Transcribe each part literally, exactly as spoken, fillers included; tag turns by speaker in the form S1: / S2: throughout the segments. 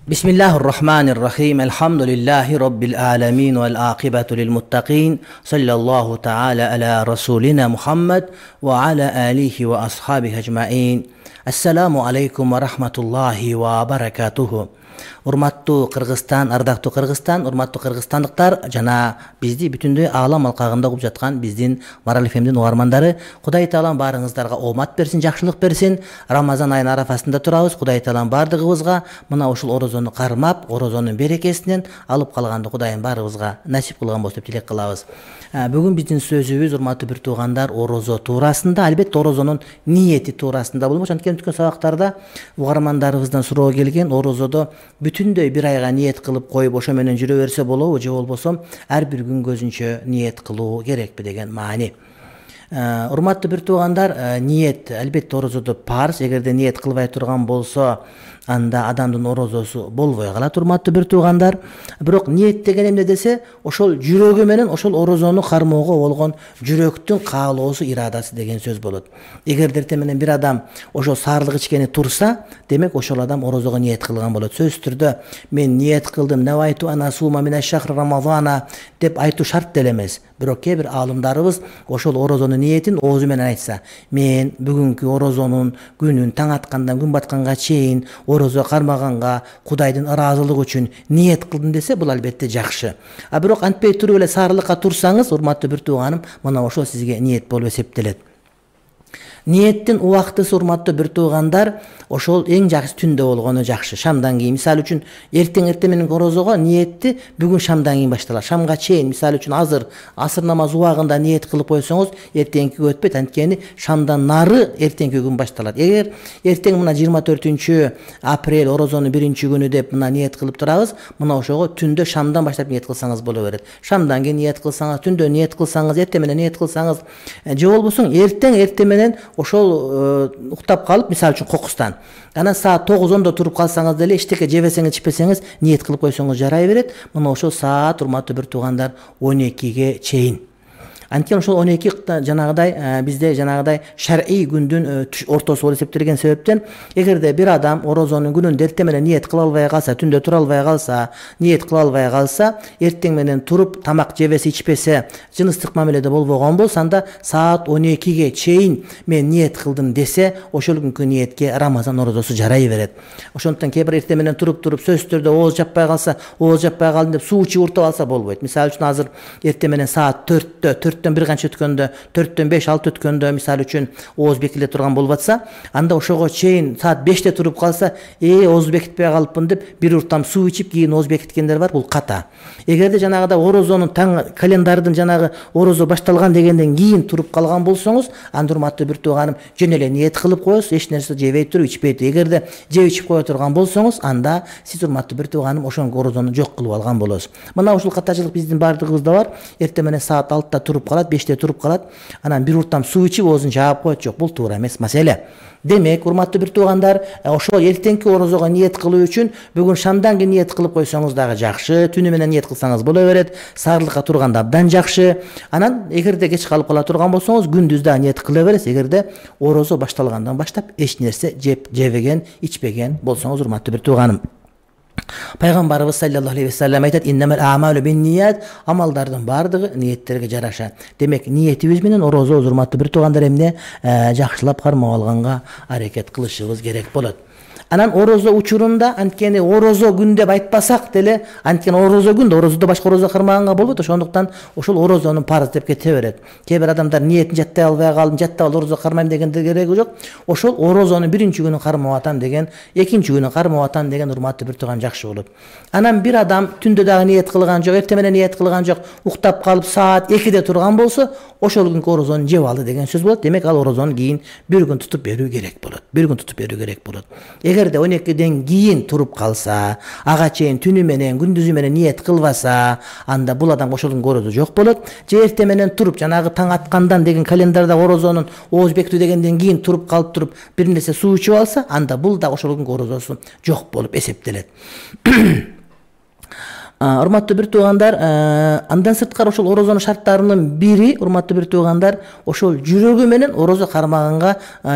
S1: Bismillahirrahmanirrahim. Elhamdülillahi Rabbil alamin vel akibatu lil muttaqin. Sallallahu ta'ala ala rasulina Muhammed ve ala alihi ve ashabihi ecmaîn. Assalamu aleykum ve rahmetullahi ve berekatuhu. Урматтуу Кыргызстан, ардактуу Кыргызстан, урматтуу кыргызстандыктар жана бизди бүтүндөй аалам алкагында угуп жаткан биздин Марал эф эмдин угармандары, Кудай таалам баарыңыздарга оомат берсин, жакшылык берсин. Рамазан айынын арафасында турабыз. Кудай таалам бардыгыбызга мына ушул орозону кармап, орозонун берекесинен алып калганды Кудайым баарыбызга насип кылган болсун деп тилек кылабыз. Бүгүн биздин сөзүбүз, урматтуу бир туугандар, орозо туурасында, албетте орозонун ниети туурасында болмок. Анткени өткөн сабактарда угармандарыбыздан суроо келген, орозодо бүтүндөй бир айга ниет кылып коюп ошо менен жүрө берсе болобу, же болбосо ар бир күн көзүнчө ниет кылуу керекпи деген маани. Урматтуу бир туугандар, ниет албетте орозодо парз. Эгерде ниет кылбай турган болсо, анда адамдын орозосу болбой калат. Урматтуу бир туугандар, бирок ниет деген эмне десе, ошол жүрөгү менен ошол орозону кармоого болгон жүрөктүн каалоосу, ирадасы деген сөз болот. Эгерде эртең менен бир адам ошол саарлык ичкени турса, демек ошол адам орозого ниет кылган болот. Сөз түрдө мен ниет кылдым, навайту ана сума мина шахр рамазана деп айтуу шарт деле эмес. Бирок кээ бир аалымдарыбыз ошол орозонун ниетин оозу менен айтса, мен бүгүнкү орозонун күнүн таң аткандан күн батканга чейин орозо кармаганга Кудайдын ыраазылыгы үчүн ниет кылдым десе, бул албетте жакшы. А бирок антпей туруп эле саарлыкка турсаңыз, урматтуу бир тууганым, мына ошол сизге ниет болуп эсептелет. Ниеттин убактысы, урматтуу бир туугандар, ошол эң жакшы түндө болгону жакшы. Шамдан кийин, мисалы үчүн, эртең эртең менен орозого ниетти бүгүн шамдан кийин башталат. Шамга чейин, мисалы үчүн, азыр асыр намаз убагында ниет кылып койсоңуз, эртеңки өтпөйт. Анткени шамдан нары эртеңки күн башталат. Эгер эртең мына жыйырма төртүнчү апрель орозонун биринчи күнү деп мына ниет кылып турабыз, мына ошого түндө шамдан баштап ниет кылсаңыз боло берет. Шамдан кийин ниет кылсаңыз, түндө ниет кылсаңыз, эртең менен ниет кылсаңыз, же болбосо эртең эртең менен ошол уктап калып, мисалы үчүн кокустан, анан саат тогуз ондо туруп калсаңыз деле, эчтеке жебесеңиз, ичпесеңиз, ниет кылып койсоңуз жарай берет. Мына ошол саат, урматтуу бир туугандар, он экиге чейин. Анткени ошол он эки жанагыдай бизде жанагыдай шар'ий күндүн ортосу болуп эсептелген себептен, эгерде бир адам орозонун күнүндө эртең менен ниет кыла албай калса, түндө тура албай калса, ниет кыла албай калса, эртең менен туруп тамак жебесе, ичпесе, жыныстык мамиледе болбогон болсо, анда саат он экиге чейин мен ниет кылдым десе, ошол күнкү ниетке Рамазан орозосу жарай берет. Ошондуктан кээ бир эртең менен туруп туруп сөз түрдө ооз жаппай калса, ооз жаппай калдым деп суу ичип уртуп алса болбойт. Мисалы үчүн, азыр эртең менен саат төрттө, төрттөн бир канча өткөндө, төрттөн беш алты өткөндө, мисалы үчүн, ооз бекиле турган болуп атса, анда ошого чейин саат беште туруп калса, э ооз бекитпей калыппын деп бир уртам суу ичип кийин ооз бекиткендер бар, бул ката. Эгерде жанагыда орозонун таң календардын жанагы орозо башталган дегенден кийин туруп калган болсоңуз, анда урматтуу бир тууганым, жөн эле ниет кылып коесуз, эч нерсе жебей туруп, ичпей туруп. Эгерде жеп ичип кое турган болсоңуз, анда сиз, урматтуу бир тууганым, ошонгу орозону жок кылып алган болосуз. Мына ушул катачылык биздин бардыгыбызда бар. Эртең менен саат алтыда туруп калат, беште туруп калат, анан бир уртам суу ичип оозун жаап коет. Жок, бул туура эмес маселе. Демек, урматтуу бир туугандар, ошол эртеңки орозого ниет кылуу үчүн бүгүн шамдан кийин ниет кылып койсоңуз дагы жакшы, түнү менен ниет кылсаңыз боло берет, саарлыкка турганда абдан жакшы. Анан эгерде кеч калып кала турган болсоңуз, күндүз да ниет кыла бересиз. Эгерде орозо башталгандан баштап эч нерсе жеп, жебеген, ичпеген болсоңуз, урматтуу бир тууганым. Пайгамбарыбыз саллаллаху алейхи ва саллям айтат: "Иннамал аъмалу бин-ният", амалдардын бардыгы ниеттерге жараша. Демек, ниетибиз менен орозо, урматтуу бир туугандар, эмне жакшылап кармап алганга аракет кылышыбыз керек болот. Анан орозо учурунда, анткени орозо күн деп айтпасак деле, анткени орозо күн да орозодо башка орозо кармаганга болбойт. Ошондуктан ошол орозонун парыз деп кете берет. Кээ бир адамдар ниетин жаттай албай калдым, жаттап ал орозо кармайм дегенде кереги жок. Ошол орозонун биринчи күнүн кармап атам деген, экинчи күнүн кармап атам деген, урматтуу бир тууган, жакшы болот. Анан бир адам түндө дагы ниет кылган жок, эртең менен ниет кылган жок, уктап калып саат экиде турган болсо, ошол күнкү орозону жеп алды деген сөз болот. Демек, ал орозону кийин бир күн тутуп берүү керек болот. Бир күн тутуп берүү керек болот. Эгерде он экиден кийин туруп калса, ага чейин түнү менен, күндүзү менен ниет кылбаса, анда бул адам ошол орозо жок болот. Же эртең менен туруп, жанагы таң аткандан деген календарда орозонун ооз бекитүү дегенден кийин туруп калып туруп бир нерсе суу ичип алса, анда бул да ошол орозосу жок болуп эсептелет. Урматтуу бир туугандар, андан сырткары ошол орозонун шарттарынын бири, урматтуу бир туугандар, ошол жүрөгү менен орозо кармаганга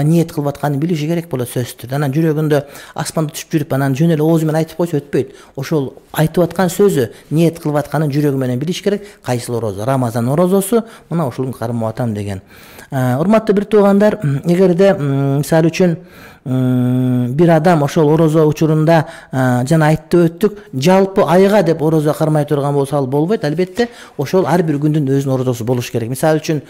S1: ниет кылып атканын билиши керек болот сөзсүз түрдө. Анан жүрөгүндө аспанда түшүп жүрүп, анан жөн эле оозу менен айтып койсо өтпөйт. Ошол айтып аткан сөзү ниет кылып атканын жүрөгү менен билиш керек. Кайсыл орозо? Рамазан орозосу, мына ушуну кармап атам деген. Урматтуу бир туугандар, эгерде мисалы үчүн бир адам ошол орозо учурунда жана айтып өттүк, жалпы айга деп орозо кармай турган болсо ал болбойт. Албетте ошол ар бир күндүн өзүнүн орозосу болуш керек. Мисалы үчүн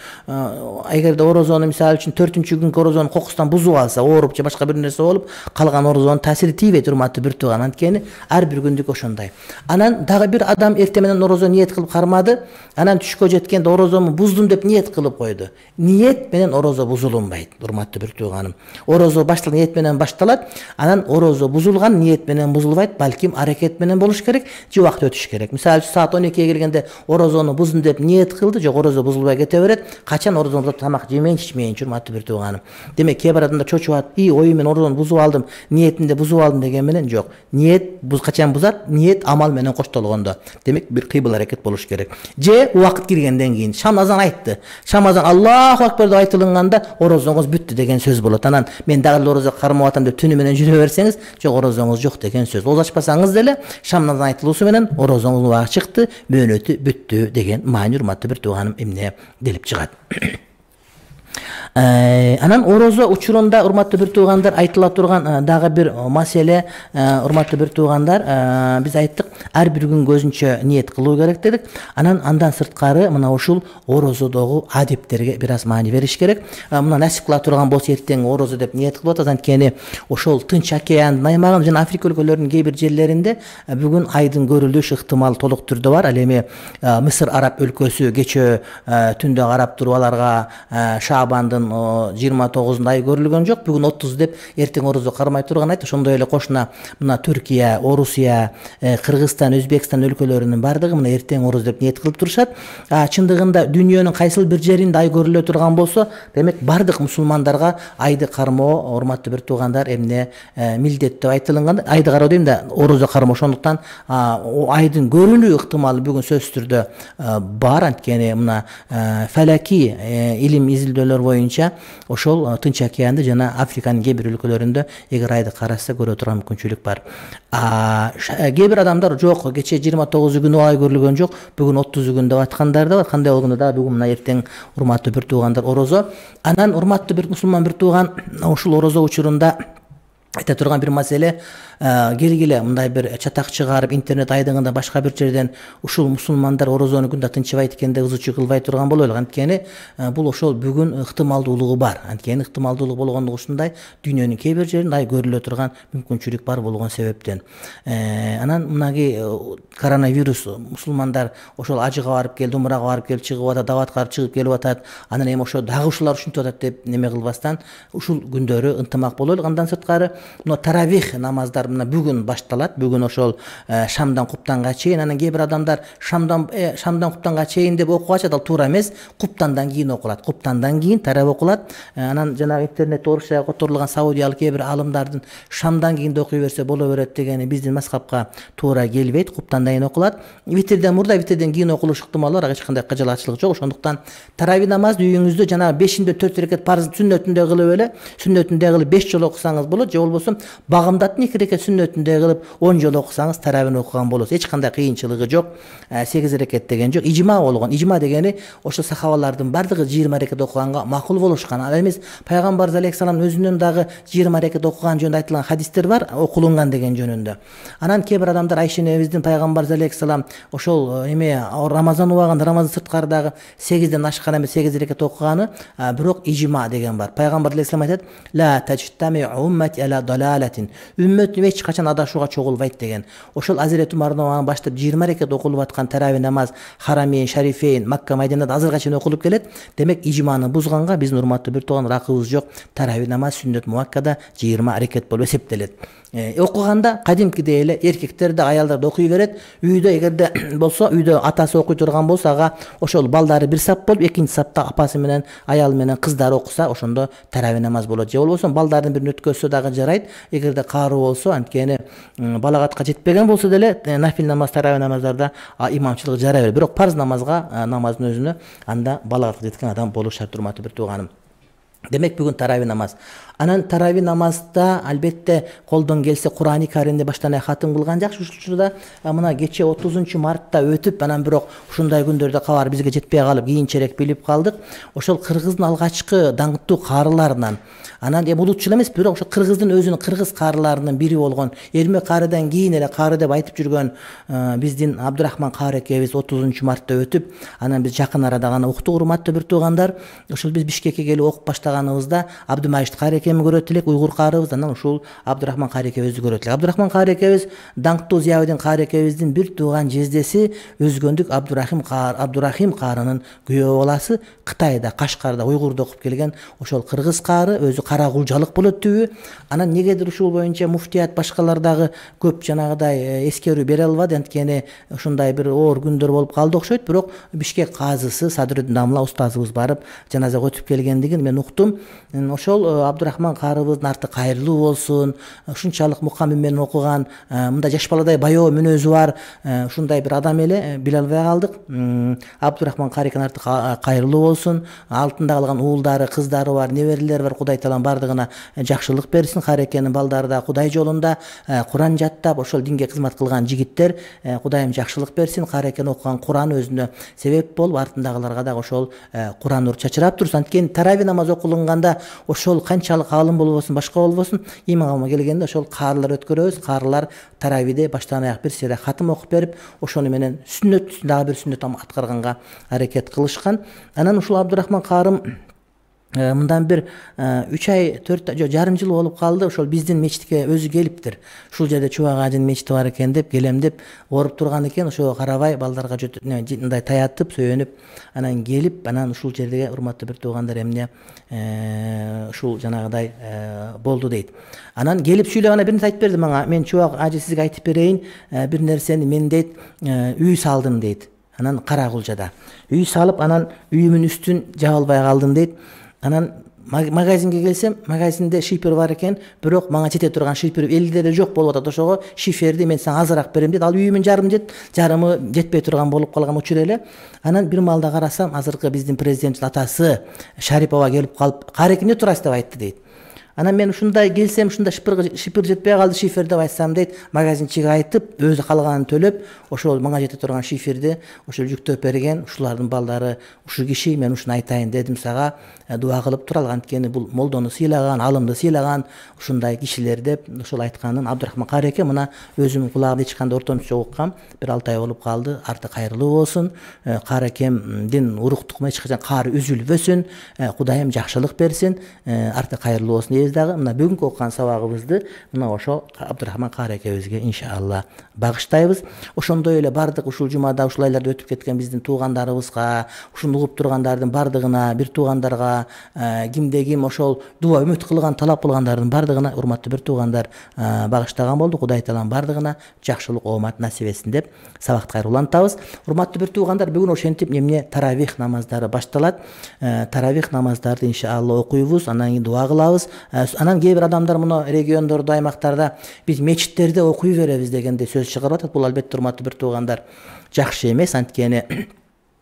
S1: эгерде орозону мисалы үчүн төртүнчү күнгө орозонун кокусунан бузуп алса, ооруп же башка бир нерсе болуп, калган орозонун таасири тийбейт, урматтуу бир тууган. Анткени ар бир күндүк ошондой. Анан дагы бир адам эртең менен орозо ниет кылып кармады, анан түшкө жеткенде орозому буздум деп ниет кылып койду. Ниет менен орозо бузулунбайт, урматтуу бир тууганым. Орозо башталган ниет менен башталат, анан орозо бузулган ниет менен бузулбайт, балким аракет менен болуш керек, же убакыт өтүш керек. Мисалы үчүн саат он экиге келгенде орозону буздум деп ниет кылды, жок орозо бузулбай кете берет. Качан орозону бузуп тамак жемейин, ичмейин, урматтуу бир тууганым. Демек кээ бир адамдар чочуп алат, "И, ою мен орозону бузуп алдым, ниетимде бузуп алдым" деген менен жок. Ниет буз качан бузат? Ниет амал менен коштолгондо. Демек бир кыйбыл аракет болуш керек. Же убакыт киргенден кийин шам азан айтты. Шам азан Аллаху акбар деп айтылганда орозоңуз бүттү деген сөз болот. Анан мен дагы орозо кармап атам деп түнү менен жүрө берсеңиз, жок орозоңуз жок деген сөз. Оз ачпасаңыз деле шам азан айтылуусу менен орозоңуз убагы чыкты, мөөнөтү бүттү деген маани, урматтуу бир тууганым, эмне келип чыгат. Анан орозо учурунда, урматтуу бир туугандар, айтыла турган дагы бир маселе, урматтуу бир туугандар, биз айттык, ар бир күнгө өзүнчө ниет кылуу керек дедик. Анан андан сырткары мына ушул орозодогу адептерге бир аз маани бериш керек. Мына насип кыла турган болсо эртең орозо деп ниет кылып атат. Анткени ошол Тынч океандын аймагында жана Африка өлкөлөрүнүн кээ бир жерлеринде бүгүн айдын көрүлүш ыктымал толук түрдө бар. Ал эми Мисыр араб өлкөсү кечээ түндө карап туруп аларга Шаабандын жыйырма тогузунда ай көрүлгөн жок, бүгүн отуз деп эртең орозо кармай турган айт. Ошондой эле кошуна мына Түркия, Орусия, Кыргызстан, Өзбекстан өлкөлөрүнүн бардыгы мына эртең орозо деп ниет кылып турушат. Чындыгында дүйнөнүн кайсыл бир жеринде ай көрүлө турган болсо, демек бардык мусулмандарга айды кармоо, урматтуу бир туугандар, эмне милдет деп айтылган. Айды кароо дейм да, орозо кармоо. Ошондуктан айдын көрүнүү ыктымалы бүгүн сөзсүз түрдө бар. Анткени мына фаляки илим изилдөөлөр боюнча ошол Тынч океанды жана Африканын кээ бир өлкөлөрүндө эгер айды караса көрө турган мүмкүнчүлүк бар. Кээ бир адамдар жок, кечээ жыйырма тогузу күнү ай көрүлгөн жок, бүгүн отузу күн деп аткандар да бар. Кандай болгондо да бүгүн мына эртең, урматтуу бир туугандар, орозо. Анан урматтуу бир мусулман бир тууган, ушул орозо учурунда айта турган бир маселе, келгиле мындай бир чатак чыгарып интернет айдыңында башка бир жерден ушул мусулмандар орозону күндө тынчыбайт экен деп ызы чуу кылбай турган бололу. Анткени бул ошол бүгүн ыктымалдуулугу бар. Анткени ыктымалдуулук болгондугу ушундай, дүйнөнүн кээ бир жеринде ай көрүлө турган мүмкүнчүлүк бар болгон себептен. Анан мынаги коронавирус мусулмандар ошол ажыга барып келди, умрага барып келип чыгып атат, даватка барып чыгып келип атат. Анан эми ошо дагы ушулар ушинтип атат деп неме кылбастан ушул күндөрү ынтымак бололу. Андан сырткары мына таравих намаздар мына бүгүн башталат. Бүгүн ошол шамдан куптанга чейин. Анан кээ бир адамдар шамдан шамдан куптанга чейин деп окуп атат, ал туура эмес. Куптандан кийин окулат. Куптандан кийин тарап окулат. Анан жанагы интернетте орусча которулган саудиялык кээ бир алымдардын шамдан кийин окуй берсе боло берет дегени биздин мазхабка туура келбейт. Куптандан кийин окулат. Витрден мурда, витрден кийин окулуш ыктымалы бар, эч кандай кажалаачылык жок. Ошондуктан тарави намазды үйүңүздө жанагы бешинде төрт рекет парыз сүннөтүндө кылып эле, сүннөтүндө кылып беш жолу окусаңыз болот, же болбосо багымдаттын эки рекет сүннөтүндө кылып он жолу окусаңыз таравини окуган болосуз. Эч кандай кыйынчылыгы жок. сегиз рекет деген жок. Ижма болгон. Ижма дегени ошо сахабалардын бардыгы жыйырма рекет окуганга макул болушкан. Ал эмес пайгамбар алейхиссалам өзүнүн дагы жыйырма рекет окуган жөнүндө айтылган хадистер бар, окулунган деген жөнүндө. Анан кээ бир адамдар Айша энебиздин пайгамбар алейхиссалам ошол эме Рамазан убагында, Рамазан сырткары дагы сегизден ашкан эмес сегиз рекет окуганы, бирок ижма деген бар. Пайгамбар алейхиссалам айтат: "Ла тажтами уммати ала далалатин". Үммөтүм эч качан адашууга чогулбайт деген. Ошол Азирет Умардан баштап жыйырма рекет окулуп аткан тарави намаз Харамейн, Шарифейн, Макка, Майдинада азыркыга чейин окулуп келет. Демек ижманы бузганга биздин урматтуу бир тууган акыбыз жок. Тарави намаз сүннөт муаккада жыйырма рекет болуп эсептелет. окуганда кадимкидей эле эркектер да аялдар да окуй берет. Үйдө эгерде болсо, үйдө атасы окуй турган болсо, ага ошол балдары бир сап болуп, экинчи сапта апасы менен аялы менен кыздары окуса, ошондо тарави намаз болот. Же болбосо балдардын бирин өткөзсө дагы жарайт. Эгерде кааруу болсо, анткени балагатка жетпеген болсо деле нафил намаз, тарави намаздарда имамчылык жарай берет. Бирок парз намазга, намаздын өзүнө анда балагатка жеткен адам болуш шарт, урматтуу бир тууганым. Демек бүгүн тарави намаз. Анан тарави намазда албетте колдон келсе Кур'ани Каримди баштан аяк хатым кылган жакшы. Ушул учурда мына кече отузунчу мартта өтүп, анан бирок ушундай күндөрдө кабар бизге жетпей калып, кийинчерээк билип калдык. Ошол кыргыздын алгачкы даңктуу каарыларынан, анан эми улутчул эмес, бирок ошо кыргыздын өзүнүн кыргыз каарыларынын бири болгон Эрмек каарыдан кийин эле каары деп айтып жүргөн биздин Абдурахман каары экебиз отузунчу мартта өтүп, анан биз жакын арада гана уктук, урматтуу бир туугандар. Ошол биз Бишкекке келип окуп баштаганыбызда Абдумажит каары экебизди көрөт элек, уйгур каарыбыз, анан ушул Абдурахман каары экебизди көрөт элек. Абдурахман каары экебиз даңктуу Зиябедин каары экебиздин бир тууган жездеси, өзгөндүк Абдурахим каар, Абдурахим каарынын күйөө баласы, Кытайда, Кашкарда, уйгурда окуп келген ошол кыргыз каары, өзү кара кулжалык болот түбү. Анан негедир ушул боюнча муфтият башкалар дагы көп жанагыдай эскерүү бере албады, анткени ушундай бир оор күндөр болуп калды окшойт. Бирок Бишкек казысы Садырдин Дамла устазыбыз барып жаназага өтүп келгендигин мен уктум. Ошол Абдурахман каарыбыздын арты кайырлуу болсун. Ушунчалык мукамим менен окуган, мындай жаш баладай баяоо мүнөзү бар ушундай бир адам эле, биле албай калдык. Абдурахман каарынын арты кайырлуу болсун. Алтында калган уулдары, кыздары бар, неберелери бар. Кудай таалам бардыгына жакшылык берсин. Каарекенин балдары да Кудай жолунда Куран жаттап, ошол динге кызмат кылган жигиттер, Кудайым жакшылык берсин. Каарекен окуган Куран өзүнө себеп болуп, артындагыларга да ошол Куран нур чачырап турсун. Анткени тарави намаз окулунганда ошол канчалык алым болбосун, башка болбосун, имамга келгенде ошол каарлар өткөрөбүз. Каарлар таравиде баштан аяк бир сыйра хатым окуп берип, ошону менен сүннөт, дагы бир сүннөт аткарганга аракет кылышкан. Анан ушул Абдурахман каарым мындан бир үч ай, төрт жо жарым жыл болуп калды. Ошол биздин мечитке өзү келиптир. Ушул жерде Чубак ажынын мечити бар экен деп, келем деп ооруп турган экен. Ошого карабай балдарга мындай таятып, сөйөнүп, анан келип, анан ушул жерге урматтуу бир туугандар эмне ушул жанагыдай болду дейт. Анан келип сүйлөп, анан бир нерсе айтып берди мага. Мен Чубак ажы сизге айтып берейин, бир нерсени, мен дейт үй салдым дейт. Анан Кара Кулжада үй салып, анан үйүмдүн үстүн жабылбай калдым дейт. Анан магазинге келсем, магазинде шифер бар экен, бирок мага жете турган шифер элде эле жок болуп атат. Ошого шиферди мен сага азыраак берем дейт. Ал үйүмүн жарым жет, жарымы жетпей турган болуп калган учур эле. Анан бир маалда карасам, азыркы биздин президенттин атасы Шарипова келип калып, каары эмне турасыз деп айтты дейт. Анан мен ушундай келсем, ушундай шифер жетпей калды, шифер деп айтсам дейт, магазинчиге айтып, өзү калганын төлөп, ошол мага жете турган шиферди ошол жүктөп берген. Ушулардын балдары ушу киши, мен ушуну айтайын дедим сага, дуа кылып турал, анткени бул молдону сыйлаган, алымды сыйлаган ушундай кишилер деп ошол айтканын Абдурахман каары эке мына өзүм кулагымда эч кандай ортомчу уккам. Бир алты ай болуп калды. Арты кайырлуу болсун. Каары экемдин уруктугуна эч качан каары үзүлбөсүн. Кудайым жакшылык берсин. Арты кайырлуу болсун дейбиз дагы. Мына бүгүнкү окуган сабагыбызды мына ошо Абдурахман каары экебизге иншалла багыштайбыз. Ошондой эле бардык ушул жумада, ушул айларда өтүп кеткен биздин туугандарыбызга, ушуну угуп тургандардын бардыгына, бир туугандарга, кимде ким ошол дуа үмүт кылган, талап кылгандардын бардыгына, урматтуу бир туугандар, багыштаган болдук. Кудай таалам бардыгына жакшылык, оомат насип этсин деп сабакты кайрулантабыз. Урматтуу бир туугандар, бүгүн ошентип эмне таравих намаздары башталат. Таравих намаздарды иншалла окуйбуз, анан кийин дуа кылабыз. Анан кээ бир адамдар муну региондордо, аймактарда биз мечиттерде окуй беребиз дегенде сөз чыгарып атат. Бул албетте урматтуу бир туугандар жакшы эмес, анткени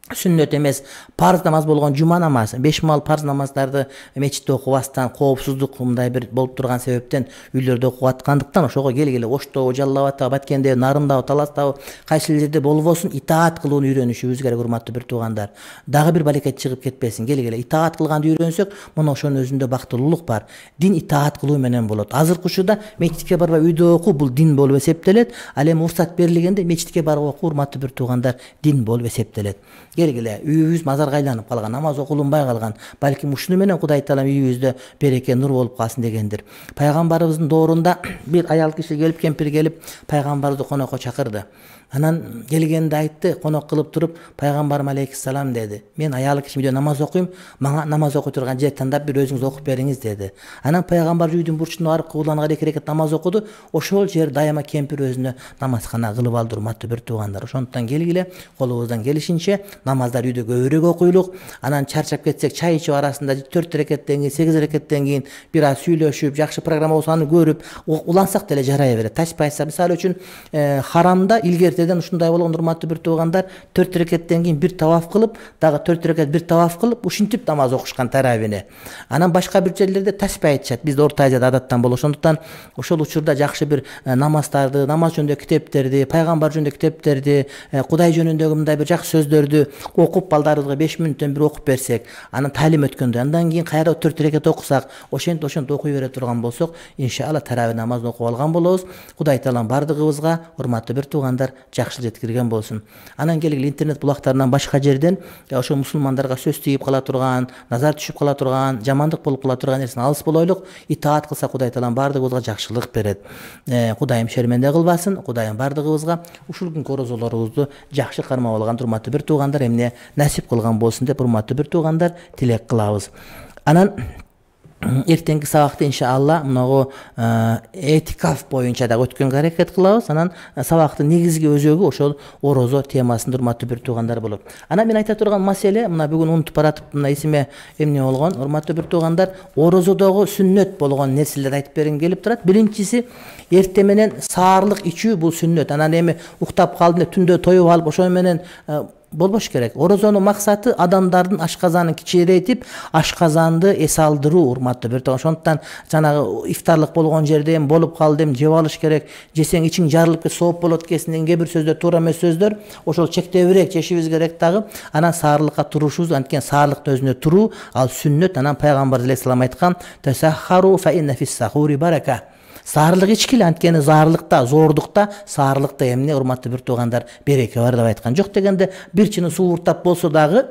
S1: сүннөт эмес, парз намаз болгон жума намазы, беш маал парз намаздарды мечитте окубастан, коопсуздук мындай бир болуп турган себептен үйлөрдө окуп аткандыктан ошого келгиле Оштобу, Жалал Абадтабы, Баткендеби, Нарындабы, Таластабы, кайсы жерде болбосун итаат кылууну үйрөнүшүбүз керек, урматтуу бир туугандар. Дагы бир балекет чыгып кетпесин. Келгиле итаат кылганды үйрөнсөк, мына ошонун өзүндө бактылуулук бар. Дин итаат кылуу менен болот. Азыркы учурда мечитке барбай үйдө окуу бул дин болуп эсептелет. Ал эми уруксат берилгенде мечитке барып окуу, урматтуу бир туугандар, дин болуп эсептелет. Келгиле үйүбүз мазарга айланып калган, намаз окулунбай калган. Балким ушуну менен Кудай таалам үйүбүздө береке, нур болуп калсын дегендир. Пайгамбарыбыздын доорунда бир аял киши келип, кемпир келип, пайгамбарыбызды конокко чакырды. Анан келгенде айтты, конок кылып туруп, пайгамбарым алейхиссалам деди, мен аялы киши үйдө намаз окуйм, мага намаз окуй турган жер тандап бир өзүңүз окуп бериңиз деди. Анан пайгамбар үйдүн бурчуна барып кыбланга эки рекет намаз окуду. Ошол жер дайыма кемпир өзүнө намазкана кылып алды, урматтуу бир туугандар. Ошондуктан келгиле колубуздан келишинче намаздар үйдө көбүрөөк окуйлук. Анан чарчап кетсек, чай ичип арасында төрт рекеттен кийин, сегиз рекеттен кийин бир аз сүйлөшүп, жакшы программа болсо аны көрүп улансак деле жарай берет. Ташпайса, мисалы үчүн харамда илгертеден ушундай болгон, урматтуу бир туугандар, төрт рекеттен кийин бир таваф кылып, дагы төрт рекет бир таваф кылып, ушинтип намаз окушкан таравини. Анан башка бир жерлерде ташпай айтышат. Бизде Орто Азияда адаттан болот. Ошондуктан ошол учурда жакшы бир намаздарды, намаз жөнүндө китептерди, пайгамбар жөнүндө китептерди, Кудай жөнүндөгү мындай бир жакшы сөздөрдү окуп, балдарыбызга беш мүнөттөн бир окуп берсек, анан талим өткөндө, андан кийин кайра төрт рекет окусак, ошентип ошентип окуй бере турган болсок, иншалла таравih намазын окуп алган болобуз. Кудай таалам бардыгыбызга, урматтуу бир туугандар, жакшылык жеткирген болсун. Анан келгиле интернет булактарынан башка жерден ошо мусулмандарга сөз тийип кала турган, назар түшүп кала турган, жамандык болуп кала турган нерсени алыс болойлук. Итаат кылса Кудай таалам бардыгыбызга жакшылык берет. Кудайым шерменде кылбасын. Кудайым бардыгыбызга ушул күнкү орозолорубузду жакшы кармап алган урматтуу бир туугандар эмне насип кылган болсун деп урматтуу бир туугандар тилек кылабыз. Анан эртеңки сабакта иншалла мынагу этикаф боюнча да өткөнгө аракет кылабыз. Анан сабактын негизги өзөгү ошол орозо темасында, урматтуу бир туугандар болот. Анан мен айта турган маселе, мына бүгүн унутуп баратып, мына эсиме эмне болгон, урматтуу бир туугандар, орозодогу сүннөт болгон нерселерди айтып бергим келип турат. Биринчиси, эртең менен саарлык ичүү бул сүннөт. Анан эми уктап калдым деп түндө тоюп алып, ошо менен болбош керек. Орозонун максаты адамдардын ашказанын кичирейтип, ашказанды эс алдыруу, урматтуу бир тууган. Ошондуктан жанагы ифтарлык болгон жерде эми болуп калды, эми жеп алыш керек, жесең ичиң жарылып кет, сооп болот экенсин деген кээ бир сөздөр туура эмес сөздөр. Ошол чектебирээк жешибиз керек дагы. Анан саарлыкка турушубуз, анткени саарлыктын өзүнө туруу ал сүннөт. Анан пайгамбар алейхиссалам айткан: "Тасаххару фа инна фис-сахури барака". Саарлык ичкиле, анткени заарлыкта, зордукта, саарлыкта эмне, урматтуу бир туугандар, береке бар деп айткан. Жок дегенде бир чыны суу уртап болсо дагы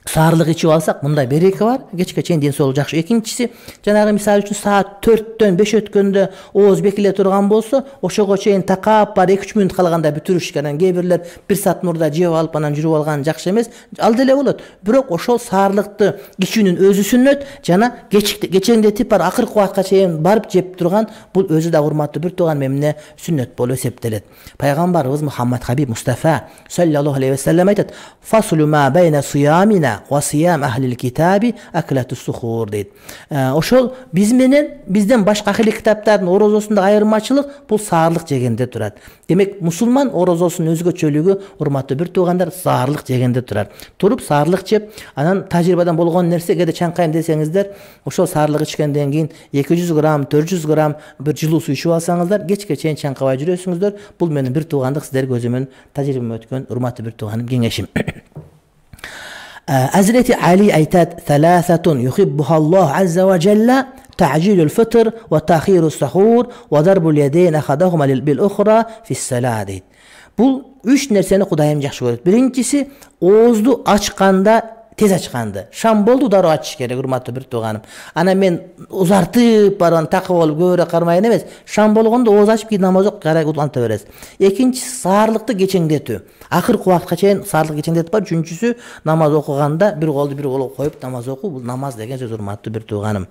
S1: саарлык ичип алсак, мындай береке бар, кечке чейин ден соолук жакшы. Экинчиси, жанагы мисалы үчүн саат төрттөн беш өткөндө ооз бекиле турган болсо, ошого чейин такап бар эки үч мүнөт калганда бүтүрүш керек. Анан кээ бирлер бир саат мурда жеп алып анан жүрүп алган жакшы эмес. Ал деле болот. Бирок ошол саарлыкты ичүүнүн өзү сүннөт, жана кечеңдетип бар акыркы убакка чейин барып жеп турган бул өзү да урматтуу бир тууган эмне сүннөт болуп эсептелет. Пайгамбарыбыз Мухаммад Хабиб Мустафа саллаллаху алейхи ва саллям айтат: "Фасулу ма байна сиямина ва сиям ахлил китаби аклатус сухур" дейт. Ошол биз менен бизден башка ахли китаптардын орозосунда айырмачылык бул саарлык жегенде турат. Демек, мусулман орозосунун өзгөчөлүгү, урматтуу бир туугандар, саарлык жегенде турат. Туруп саарлык жеп, анан тажрыйбадан болгон нерсе, кээде чаңкайм десеңиздер, ошол саарлык ичкенден кийин эки жүз грамм, төрт жүз грамм бир жылуу суу ичип алсаңыздар, кечке чейин чаңкабай жүрөсүңүздөр. Бул менин бир туугандык сиздерге өзүмдүн тажрыйбам өткөн урматтуу бир тууганым кеңешим. Hazreti Ali aytadi: "Thalathatun yuhibbuhalloh azza va jalla ta'jilul fitr va ta'khirus suhur va darbul yadayn ahadahuma bil ukhra fis salat." Bul üç nerseni Kudayım жакшы көрөт. Биринчиси, оозду ачканда, тез ачканды. Шам болду, дароо ачыш керек, урматтуу бир тууганым. Анан мен узартып барган такып болуп көбүрөөк кармайын эмес. Шам болгондо ооз ачып кийин намаз окуп карай уланта бересиз. Экинчиси, саарлыкты кечеңдетүү. Акыркы убакытка чейин саарлык кечеңдетип бар. Үчүнчүсү, намаз окуганда бир колду бир колго коюп намаз окуу. Бул намаз деген сөз, урматтуу бир тууганым.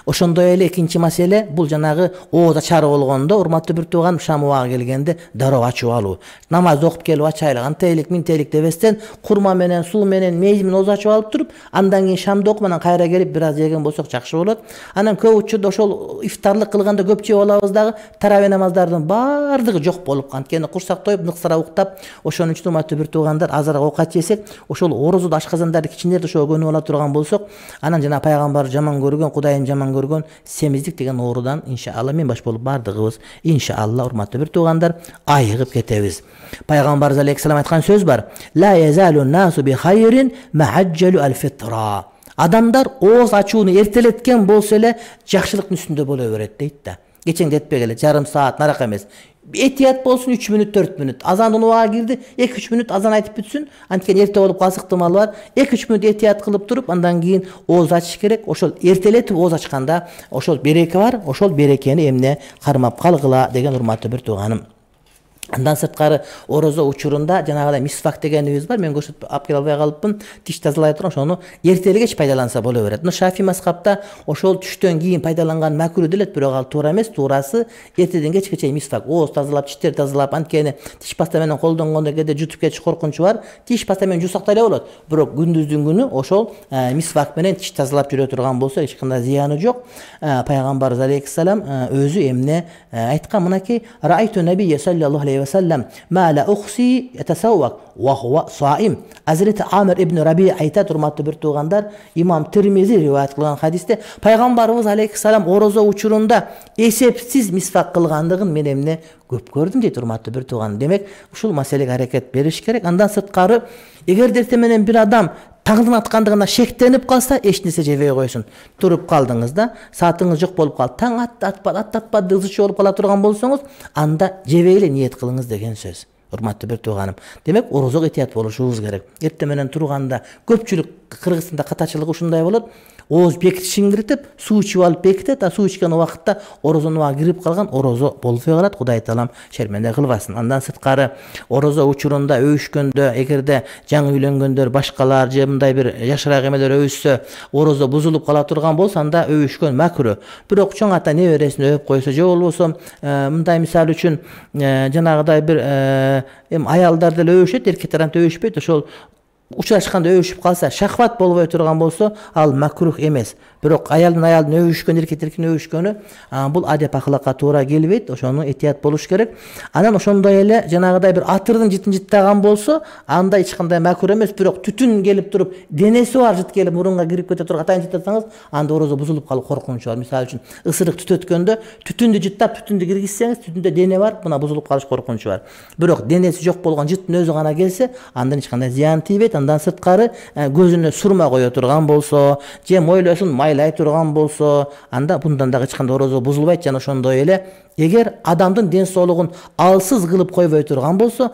S1: Ошондой эле экинчи маселе, бул жанагы ооз ачары болгондо, урматтуу бир тууганым, шам убагы келгенде дароо ачып алуу. Намаз окуп келип ачайлы, антейлик, минтейлик дебестен, курма менен, суу менен, мейиз менен ооз ачып алып туруп, андан кийин шамды окуп, анан кайра келип бир аз жеген болсок жакшы болот. Анан көп учурда ошол ифтарлык кылганда көп жеп алабыз дагы, таравih намаздардын баардыгы жок болуп, анткени курсак тоюп, ныксыра уктап, ошонун үчүн урматтуу бир туугандар, азыраак оокат жесек, ошол орозодо ашказандарды кичинерди ошого көнүп ала турган болсок, анан жана пайгамбар жаман көргөн, Кудайым жаман көргөн семиздик деген оорудан иншалла мен баш болуп бардыгыбыз иншалла, урматтуу бир туугандар, айыгып кетебиз. Пайгамбарыбыз алейхиссалам айткан сөз бар: "Ла язалу насу би хайрин ма'ajjalu al-fitra." Адамдар ооз ачууну эртелеткен болсо эле жакшылыктын үстүндө боло берет дейт да. Кечеңдетпегиле, жарым саат нарак эмес. Этият болсун, үч мүнөт, төрт мүнөт. Азандын убагы кирди, эки үч мүнөт азан айтып бүтсүн. Анткени эрте болуп калса ыктымалы бар. эки үч мүнөт этият кылып туруп, андан кийин ооз ачыш керек. Ошол эртелетип ооз ачканда ошол береке бар. Ошол берекени эмне кармап калгыла деген урматтуу бир тууганым. Андан сырткары орозо учурунда жанагыдай мисвак дегенибиз бар. Мен көрсөтүп алып келе албай калыпмын. Тиш тазалай турган ошону эртели кеч пайдаланса боло берет. Мына Шафи мазхабта ошол түштөн кийин пайдаланган макруh делет, бирок ал туура эмес. Туурасы эртеден кечке чейин мисвак, ооз тазалап, тиштер тазалап, анткени тиш паста менен колдонгондо кээде жутуп кетиш коркунучу бар. Тиш паста менен жуусактай эле болот. Бирок күндүздүн күнү ошол мисвак менен тиш тазалап жүрө турган болсо эч кандай зыяны жок. Пайгамбарыбыз алейхиссалам өзү эмне айткан, мынакей: "Раайту набийя саллаллаху алейхи ва саллам ма ла ухси ятасаввак ва хува саим." Азирет Амир ибн Раби айтат, урматтуу бир туугандар, имам Тирмизи риваят кылган хадисте пайгамбарыбыз алейхиссалам орозо учурунда эсепсиз мисвак кылгандыгын мен эмне көп көрдүм дейт, урматтуу бир тууган. Демек ушул маселеге аракет бериш керек. Андан сырткары, эгер эртең менен бир адам таңдын аткандыгына шектенип калса, эч нерсе жебей койсун. Туруп калдыңыз да, саатыңыз жок болуп калды, таң атты, атпады, аттатпады, ызычы болуп кала турган болсоңуз, анда жебей эле ниет кылыңыз деген сөз. Урматтуу бир тууганым. Демек орозого этият болушубуз керек. Эртең менен турганда көпчүлүк Кыргызстанда катачылык ушундай болот. Ооз бекитишин киритип, суу ичип алып бекитет, а суу ичкен убакытта орозонуга кирип калган, орозо болбой калат. Кудай таалам шерменде кылбасын. Андан сырткары, орозо учурунда өбүшкөндө, эгерде жаңы үйлөнгөндөр, башкалар же мындай бир жашыраак эмелер өбүшсө, орозо бузулуп кала турган болсо, анда өбүшкөн макруh. Бирок чоң ата небересин өбүп койсо же болбосо мындай мисал үчүн жанагыдай бир эми аялдар деле өбүшөт, эркек тарапта өбүшпөйт. Ошол учурашканда өбүшүп калса, шахват болбой турган болсо, ал макруh эмес. Бирок аялдын аялдын өбүшкөн, эркек эркектин өбүшкөнү бул адеп акылакка туура келбейт. Ошону этият болуш керек. Анан ошондой эле жанагыдай бир атырдын жытын жыттаган болсо, анда эч кандай макруh эмес. Бирок түтүн келип туруп, денеси бар жыт келип мурунга кирип кете турган атайын жыттасаңыз, анда орозо бузулуп калуу коркунучу бар. Мисалы үчүн ысырык түтөткөндө түтүндү жыттап, түтүндү киргизсеңиз, түтүндө дене бар, мына бузулуп калыш коркунучу бар. Бирок денеси жок болгон жыттын өзү гана келсе, андан эч кандай зыян тийбейт. Андан сырткары, көзүнө сурма кое турган болсо, же мойлосун майлай турган болсо, анда bundan дагы эч кандай орозо бузулбайт. Жана ошондой эле, эгер адамдын ден соолугун алсыз кылып койбой турган болсо,